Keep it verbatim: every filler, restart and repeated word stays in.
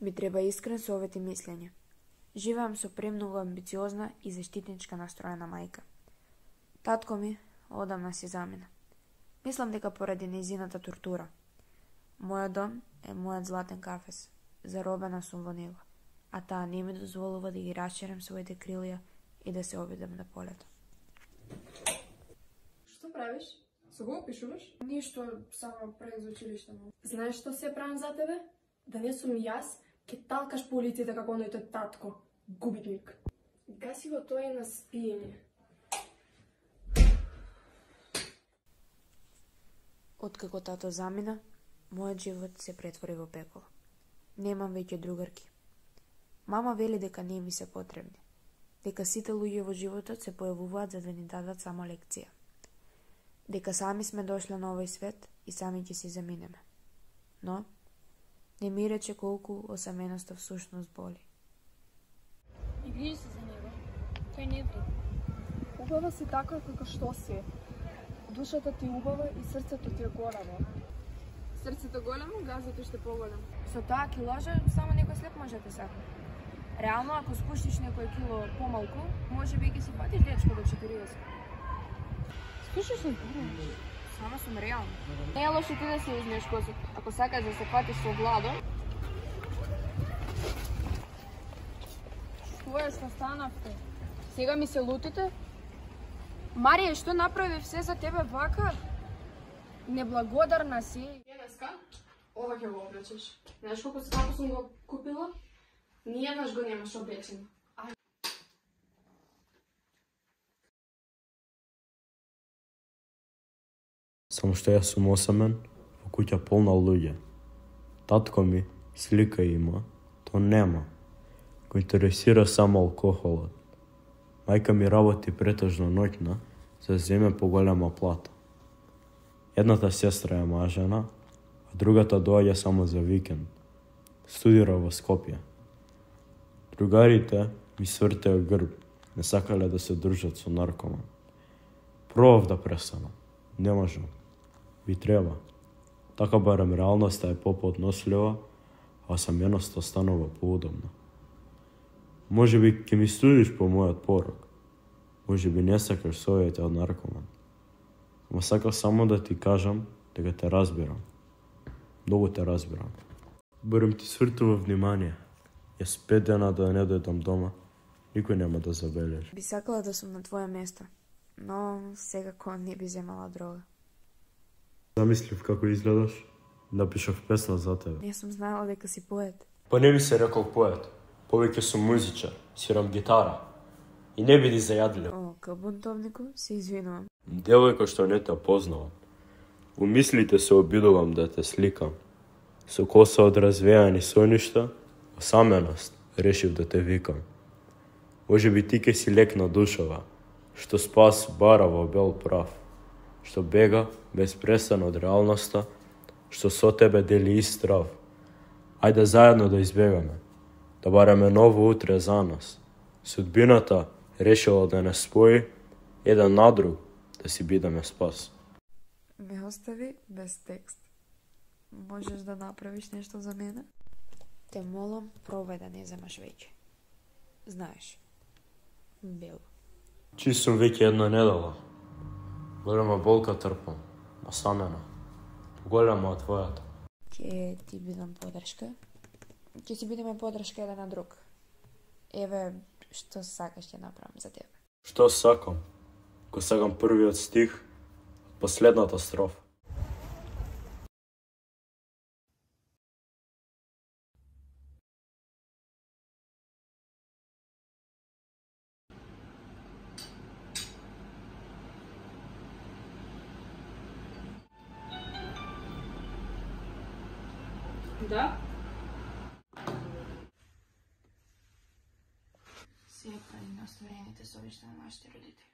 ми треба искрен совет и мислење. Живеам со премногу амбициозна и заштитничка настроена мајка. Татко ми одамна си замина. Мислам дека поради нејзината тортура. Мојот дом е мојот златен кафес. Заробена сум во него, а таа не ми дозволува да ги расширам своите крилја и да се обидам на полето. Што правиш? Со го опишуваш? Ништо, само пред за училиште. Знаеш што се правам за тебе? Да не сум јас, ке талкаш по улиците како оној тој татко. Губитник. Гаси го тој на спиење. Откако тато замина, мојот живот се претвори во пеколо. Немам веќе другарки. Мама вели дека не ми се потребни. Дека сите луѓе во животот се појавуваат за да ни дадат само лекција. Дека сами сме дошле на овој свет и сами ќе си заминеме. Но, не ми рече колку осаменоста всушност боли. И грижи се за него. Тој не вреди. Убава си така како што си. Душата ти убава и срцето ти е големо. Срцето големо, газот уште поголем. Со таа килажа само некој слеп може да сакне. Реално, ако спуштиш некој кило помалку, може би ќе си фатиш дечко до четириесет. Слушаш се зборуваш? Само сум реално. Не е лошо ти да си узмеш косот. Ако сакаш да се фатиш со Владо. Што е, што станавте? Сега ми се лутите? Марија, што направи все за тебе вака? Неблагодарна си. Денеска, ова ќе го облечеш. Знаеш колку скапо сум го купила? Ниједнаш го немаш облечено. Само што јас сум осамен во куќа полна луѓе. Татко ми слика има, то нема. Го интересира само алкохолот. Мајка ми работи претежно ноќна, за да земе поголема плата. Едната сестра е мажена, а другата доаѓа само за викенд. Студира во Скопје. Другарите ми свртеа грб, не сакале да се дружат со наркоман. Пробав да престанам, не можам. Ви треба. Така барем реалноста е поподнослива, а саменоста станува поудобна. Може би ќе ми студиш по мојот порок. Може би не сакаш совети од наркоман. Ама сакав само да ти кажам дека те разбирам. Многу те разбирам. Барем ти свртува внимание. Јас пет дена да не дојдам дома, никој нема да забележи. Би сакала да сум на твое место, но секако не би земала дрога. Замислив како изгледаш, напишав песна за тебе. Не сум знаела дека си поет. Па не би се рекол поет. Повеќе сум музичар, свирам гитара. И не биди зајадлив. О, ка бунтовнику, се извинувам. Девојка што не те познавам. У мислите се обидувам да те сликам. Со коса од развејани соништа, осаменост, решив да те викам. Може би ти ке си лек на душава, што спас бара во бел прав, што бега без престан од реалноста, што со тебе дели ист здрав. Ајде заедно да избегаме, да бараме ново утре за нас. Судбината решила да не спои, еден на друг да си бидеме спас. Ме остави без текст. Можеш да направиш нешто за мене? Те молам, пробај да не земаш веќе. Знаеш, Бело. Чи сум веќе една недела. Голема болка трпам, осамена. Голема од твојата. Ќе ти бидам подршка. Ќе си бидеме подршка еден на друг. Еве, што сакаш ќе направам за тебе. Што сакам? Ко сакам првиот стих од последната строфа. Да? Се прави на остварените совишта на нашите родители.